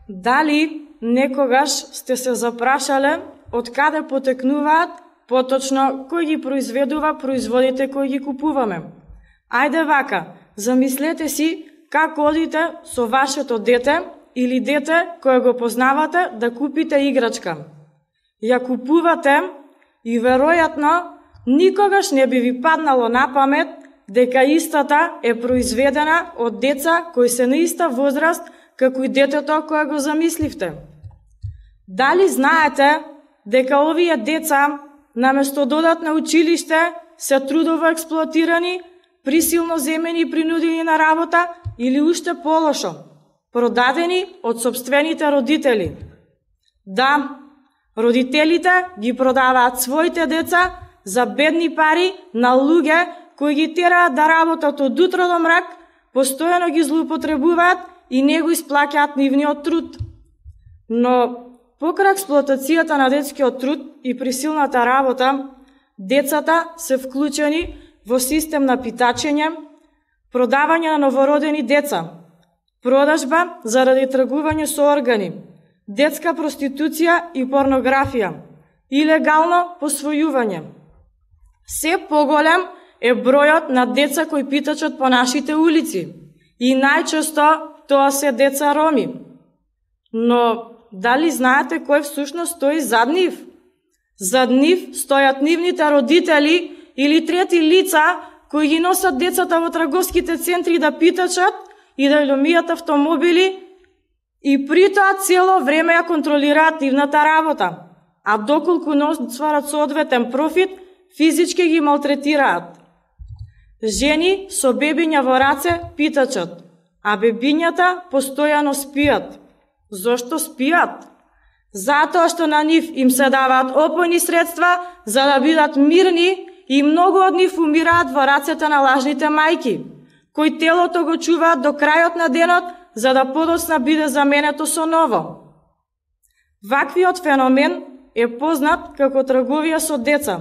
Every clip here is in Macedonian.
Дали некогаш сте се запрашале од каде потекнуваат, поточно кој ги произведува производите кои ги купуваме? Ајде вака, замислете си како одите со вашето дете или дете кое го познавате да купите играчка. Ја купувате и веројатно никогаш не би ви паднало на памет дека истата е произведена од деца кои се на иста возраст како и детето кое го замисливте. Дали знаете дека овие деца наместо додат на училиште се трудово експлоатирани, присилно земени и принудени на работа или уште полошо, продадени од сопствените родители? Да, родителите ги продаваат своите деца за бедни пари на луѓе кои ги тераат да работат од утро до мрак, постојано ги злоупотребуваат и не го исплаќаат нивниот труд. Но покрај експлоатацијата на детскиот труд и присилната работа, децата се вклучени во систем на питачење, продавање на новородени деца, продажба заради тргување со органи, детска проституција и порнографија, илегално посвојување. Се поголем е бројот на деца кои питачат по нашите улици и најчесто тоа се деца роми. Но дали знаете кој всушност стои зад нив? Зад нив стојат нивните родители или трети лица кои ги носат децата во трговските центри да питачат и да ломијат автомобили и при тоа цело време ја контролираат нивната работа, а доколку не остварат соодветен профит, физички ги малтретираат. Жени со бебиња во раце питачат, а бебињата постојано спијат. Зошто спијат? Затоа што на нив им се даваат опојни средства за да бидат мирни и многу од нив умираат во рацете на лажните мајки, кои телото го чуваат до крајот на денот за да подоцна биде заменето со ново. Ваквиот феномен е познат како трговија со деца,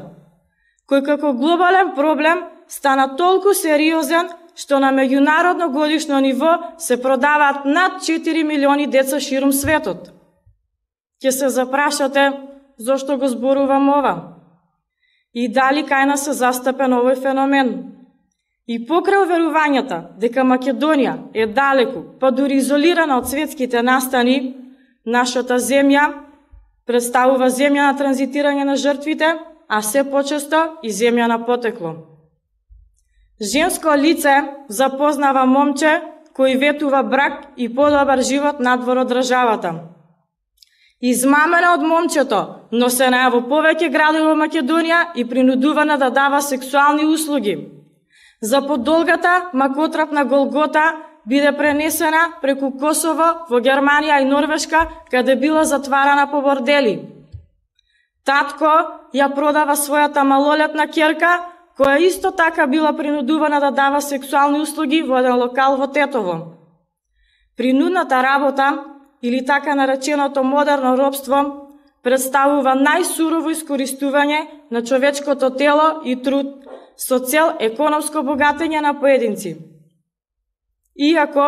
кој како глобален проблем стана толку сериозен што на меѓународно годишно ниво се продаваат над 4 милиони деца ширум светот. Ќе се запрашате зошто го зборувам ова и дали кај нас се застапен овој феномен. И покрај уверувањата дека Македонија е далеку, па дури изолирана од светските настани, нашата земја представува земја на транзитирање на жртвите, а се почесто и земја на потекло. Женско лице запознава момче кој ветува брак и подобар живот надвор од државата. Измамена од момчето, но се наја во повеќе градови во Македонија и принудувана да дава сексуални услуги. За подолгата макотрапна голгота биде пренесена преку Косово во Германија и Норвешка, каде била затварана по бордели. Татко ја продава својата малолетна ќерка, која исто така била принудувана да дава сексуални услуги во еден локал во Тетово. Принудната работа, или така нареченото модерно робство, представува најсурово искористување на човечкото тело и труд со цел економско богатење на поединци. Иако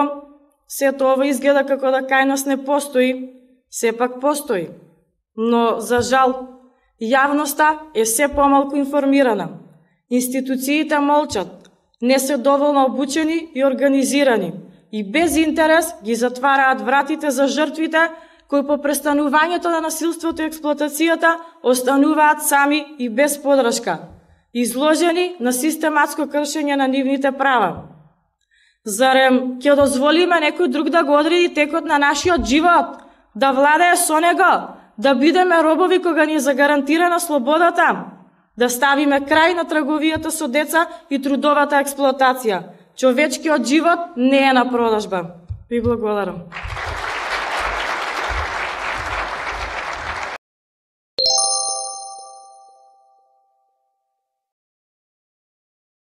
сето ова изгледа како да кај нас не постои, сепак постои. Но, за жал, јавноста е се помалку информирана. Институциите молчат, не се доволно обучени и организирани и без интерес ги затвараат вратите за жртвите кои по престанувањето на насилството и експлоатацијата остануваат сами и без подршка, изложени на систематско кршење на нивните права. Зарем ќе дозволиме некој друг да го одреди текот на нашиот живот, да владее со него, да бидеме робови кога ни е загарантирана слободата, да ставиме крај на трговијата со деца и трудовата експлоатација? Човечкиот живот не е на продажба. Ви благодарам.